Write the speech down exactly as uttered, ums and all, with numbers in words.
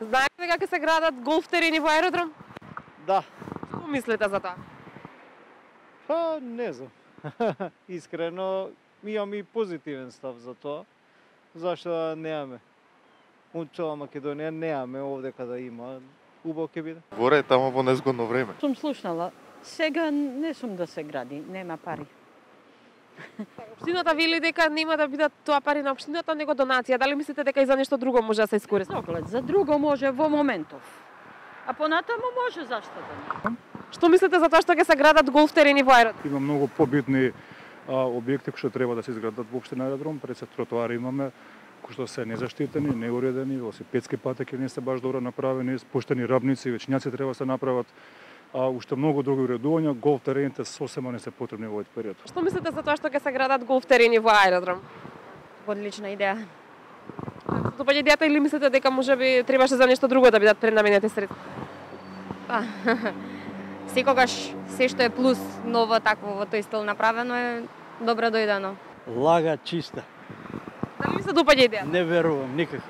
Знаете дека ќе се градат голф терени во аеродром? Да. Што мислите за тоа? Па, не знам. Искрено, имам и позитивен став за тоа. Зашто да немаме? Унчова Македонија немаме овде каде има. Убаво ќе биде. Горе е тамо во незгодно време. Сум слушнала. Сега не сум да се гради, нема пари. Општината вели дека нема да бидат тоа пари на општината, него донација. Дали мислите дека и за нешто друго може да се искористи? Доглед, за друго може во моментов. А понатаму може, зашто да не? Што мислите за тоа што ќе се градат голф терени во аеродром? Има многу побитни а, објекти кои што треба да се изградат во општина аеродром, пред се тротоари имаме кои што се незаштитени, неуредени, велосипедски патеки не се баш добро направени, спуштени рабници, вечњаци треба да се направат. А уште многу други уредувања, голф терените сосема не се потребни во овој период. Што мислите за тоа што ќе се градат голф терени во аеродром? Одлична идеја. Допаѓа идејата или мислите дека можеби требаше за нешто друго да бидат пренаменети средства? Па, секогаш се што е плюс ново такво во тој стил направено е добро дојдено. Лага чиста. Дали ви се допаѓа идејата? Не верувам никако.